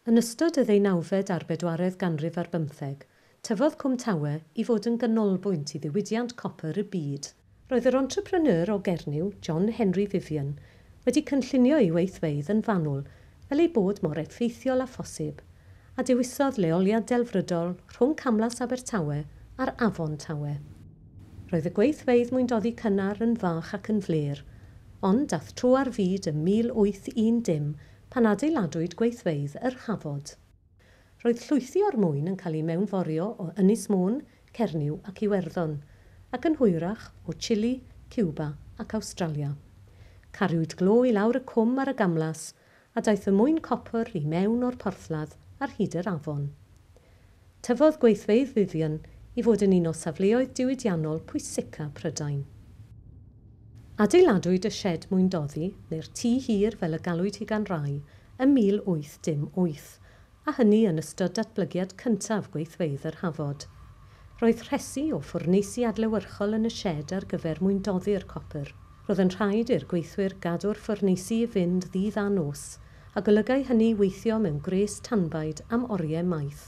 Yn ystod y ddeunawfed a'r bedwaredd ganrif ar bymtheg, tyfodd Cwm Tawe i fod yn ganolbwynt i ddiwydiant copr y byd. Roedd yr entrepreneur o Gernyw, John Henry Vivian, wedi cynllunio ei weithfeydd yn fanwl fel eu bod mor effeithiol â phosib, a dewisodd leoliad delfrydol rhwng Camlas Abertawe a'r Afon Tawe. Roedd y gweithfeydd mwyndoddi cynnar yn fach ac yn flêr, ond daeth tro ar fyd ym 1810 pan adeiladwyd gweithfeydd yr Hafod. Roedd llwythi o'r mwyn yn cael eu mewnforio o Ynys Môn, Cernyw ac Iwerddon, ac yn hwyrach o Chile, Cuba ac Awstralia. Cariwyd glo i lawr y cwm ar y gamlas, a daeth y mwyn copr i mewn o'r porthladd ar hyd yr afon. Tyfodd gweithfeydd Vivian i fod yn un o safleoedd diwydiannol pwysica Prydain. Adeiladwyd y sied mwyndoddi, neu'r tŷ hir fel y galwyd hi gan rai, ym 1818, a hynny yn ystod datblygiad cyntaf gweithfeydd yr Hafod. Roedd rhesi o ffwrneisi adlewyrchol yn y sied ar gyfer mwyndoddi'r copr. Roedd yn rhaid i'r gweithwyr gadw'r ffwrneisi i fynd ddydd a nos, a golygai hynny weithio mewn gwres tanbaid am oriau maith.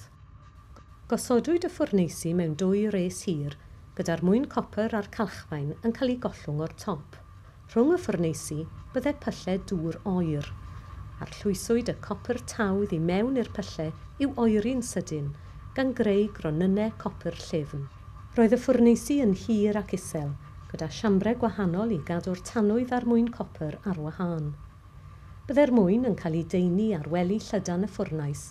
Gosodwyd y ffwrneisi mewn dwy res hir, gyda'r mwyn copr a'r calchfaen yn cael eu gollwng o'r top. Rhwng y ffwrneisi bydde pyllau dŵr oer. Arllwyswyd y copr tawdd i mewn i'r pyllau i'w oeri'n sydyn, gan greu gronynnau copr llyfn. Roedd y ffwrneisi yn hir ac isel, gyda siambrau gwahanol i gadw'r tanwydd a'r mwyn copr ar wahân. Byddai'r mwyn yn cael ei daenu ar wely llydan y ffwrnais,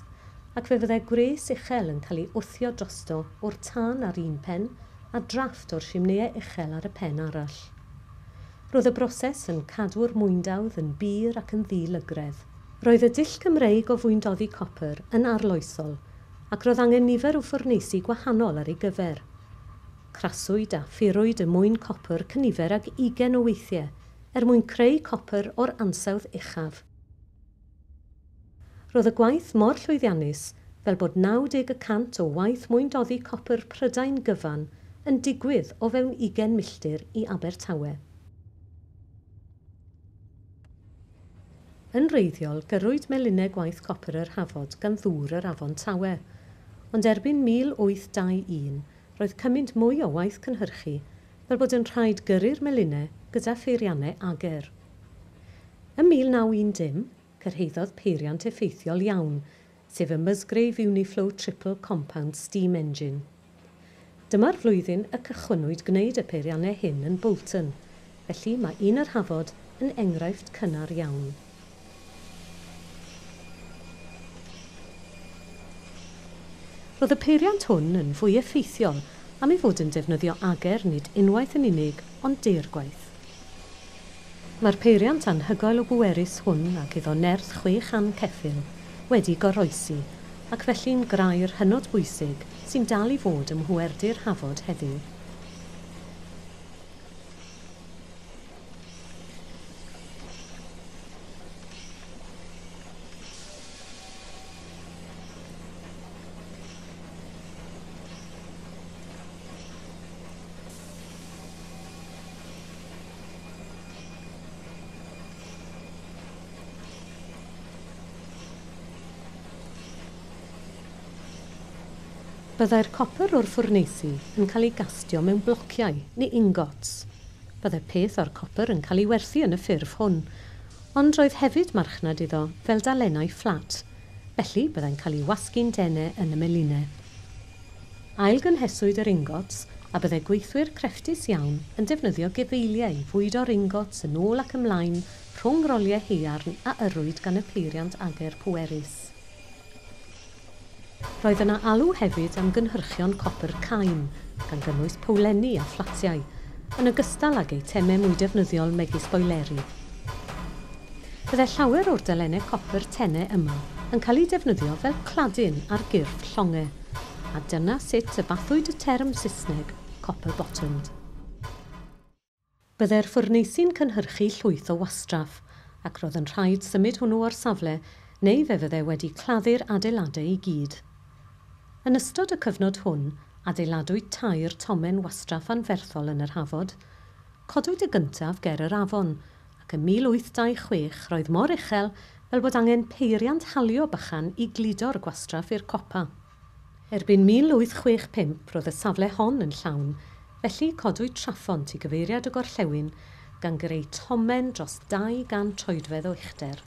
ac fe fyddai gwres uchel yn cael ei wthio drosto o'r tân ar un pen a drafft o'r simneiau uchel ar y pen arall. Roedd y broses yn cadw'r mwyndawdd yn bur ac yn ddi-lygredd. Roedd y dull Cymreig o fwyndoddi copr yn arloesol, ac roedd angen nifer o ffwrneisi gwahanol ar ei gyfer. Craswyd a phurwyd y mwyn copr cynifer ag 20 o weithiau er mwyn creu copr o'r ansawdd uchaf. Roedd y gwaith mor llwyddiannus fel bod 90% o waith mwyndoddi copr Prydain gyfan yn digwydd o fewn 20 milltir i Abertawe. Yn wreiddiol, gyrrwyd melinau gwaith copr yr Hafod gan ddŵr yr Afon Tawe, ond erbyn 1821 roedd cymaint mwy o waith cynhyrchu fel bod yn rhaid gyrru'r melinau gyda pheiriannau ager. Ym 1910, cyrhaeddodd peiriant effeithiol iawn, sef y Musgrave Uniflow Triple Compound Steam Engine. Dyma'r flwyddyn y cychwynnwyd gwneud y peiriannau hyn yn Bolton, felly mae un yr Hafod yn enghraifft cynnar iawn. Roedd y peiriant hwn yn fwy effeithiol am ei fod yn defnyddio ager nid unwaith yn unig, ond deirgwaith. Mae'r peiriant anhygoel o bwerus hwn ac iddo nerth 600 ceffyl wedi goroesi, ac felly'n grair hynod bwysig sy'n dal i fod ym mhwerdy'r Hafod heddiw. Byddai'r copr o'r ffwrneisi yn cael ei gastio mewn blociau neu ingots. Byddai peth o'r copr yn cael ei werthu yn y ffurf hwn, ond roedd hefyd marchnad iddo fel dalennau fflat, felly byddai'n cael ei wasgu'n denau yn y melinau. Ailgynheswyd yr ingots a byddai gweithwyr crefftus iawn yn defnyddio gefeiliau i fwydo'r ingots yn ôl ac ymlaen rhwng roliau haearn a yrrwyd gan y peiriant ager pwerus. Roedd yna alw hefyd am gynhyrchion copr cain, gan gynnwys powlenni a fflatiau, yn ogystal ag eitemau mwy defnyddiol megis boileri. Byddai llawer o'r dalennau copr tenau yma yn cael eu defnyddio fel cladin ar gyrff llongau, a dyna sut y bathwyd y term Saesneg copper-bottomed. Byddai'r ffwrneisi'n cynhyrchu llwyth o wastraff, ac roedd yn rhaid symud hwnnw o'r safle neu fe fyddai wedi claddu'r adeiladau i gyd. Yn ystod y cyfnod hwn, adeiladwyd 3 tomen wastraff anferthol yn yr Hafod. Codwyd y gyntaf ger yr afon, ac ym 1826 roedd mor uchel fel bod angen peiriant halio bychan i gludo'r gwastraff i'r copa. Erbyn 1865 roedd y safle hon yn llawn, felly codwyd traphont i gyfeiriad y gorllewin gan greu tomen dros 200 troedfedd o uchder.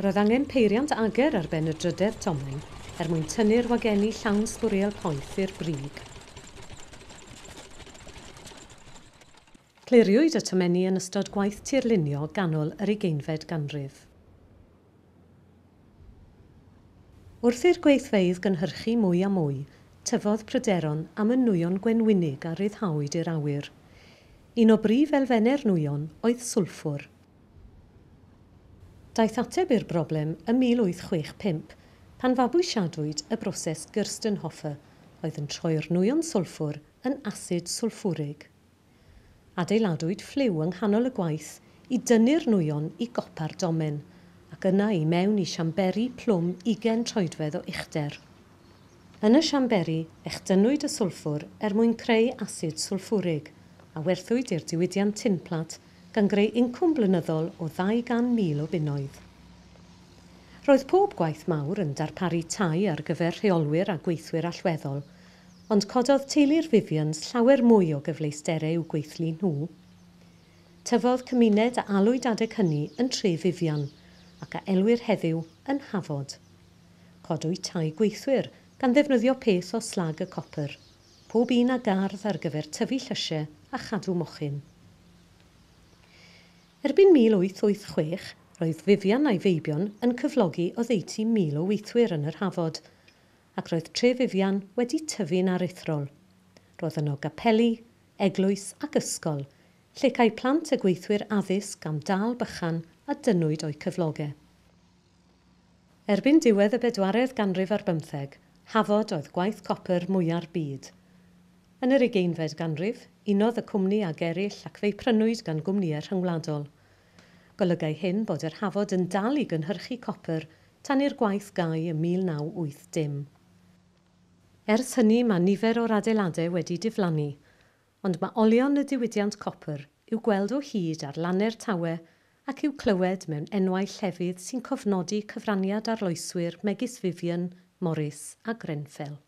Roedd angen peiriant ager ar ben y drydedd tomen er mwyn tynnu'r wagenni llawn sbwriel poeth i'r brig. Cliriwyd y tomenni yn ystod gwaith tirlunio ganol yr ugeinfed ganrif. Wrth i'r gweithfeydd gynhyrchu mwy a mwy, tyfodd pryderon am y nwyon gwenwynig a ryddhawyd i'r awyr. Un o brif elfennau'r nwyon oedd sylffwr. Daeth ateb i'r broblem ym 1865 pan fabwysiadwyd y broses Gerstenhofer oedd yn troi'r nwyon sylffwr yn asid sylffwrig. Adeiladwyd ffliw yng nghanol y gwaith i dynnu'r nwyon i gopa'r domen ac yna i mewn i siamberi plwm 20 troedfedd o uchder. Yn y siamberi, echdynnwyd y sylffwr er mwyn creu asid sylffwrig a werthwyd i'r diwydiant tinplat gan greu incwm blynyddol o 200,000 o bunnoedd. Roedd pob gwaith mawr yn darparu tai ar gyfer rheolwyr a gweithwyr allweddol, ond cododd teulu'r Vivians llawer mwy o gyfleusterau i'w gweithlu nhw. Tyfodd cymuned a alwyd adeg hynny yn Tre Vivian ac a elwir heddiw yn Hafod. Codwyd tai gweithwyr gan ddefnyddio peth o slag y copr, pob un â gardd ar gyfer tyfu llysiau a chadw mochyn. Erbyn 1886, roedd Vivian a'i feibion yn cyflogi oddeutu 1,000 o weithwyr yn yr Hafod, ac roedd Tre Vivian wedi tyfu'n aruthrol. Roedd yno gapeli, eglwys ac ysgol, lle cae plant y gweithwyr addysg am dâl bychan a dynnwyd o'u cyflogau. Erbyn diwedd y bedwaredd ganrif ar bymtheg, Hafod oedd gwaith copr mwya'r byd. Yn yr ugeinfed ganrif, unodd y cwmni ag eraill ac fe'i prynwyd gan gwmnïau rhyngwladol. Golygai hyn bod yr Hafod yn dal i gynhyrchu copr tan i'r gwaith gau ym 1980. Ers hynny mae nifer o'r adeiladau wedi diflannu, ond mae olion y diwydiant copr i'w gweld o hyd ar lannau'r Tawe ac i'w clywed mewn enwau llefydd sy'n cofnodi cyfraniad arloeswyr megis Vivian, Morris a Grenfell.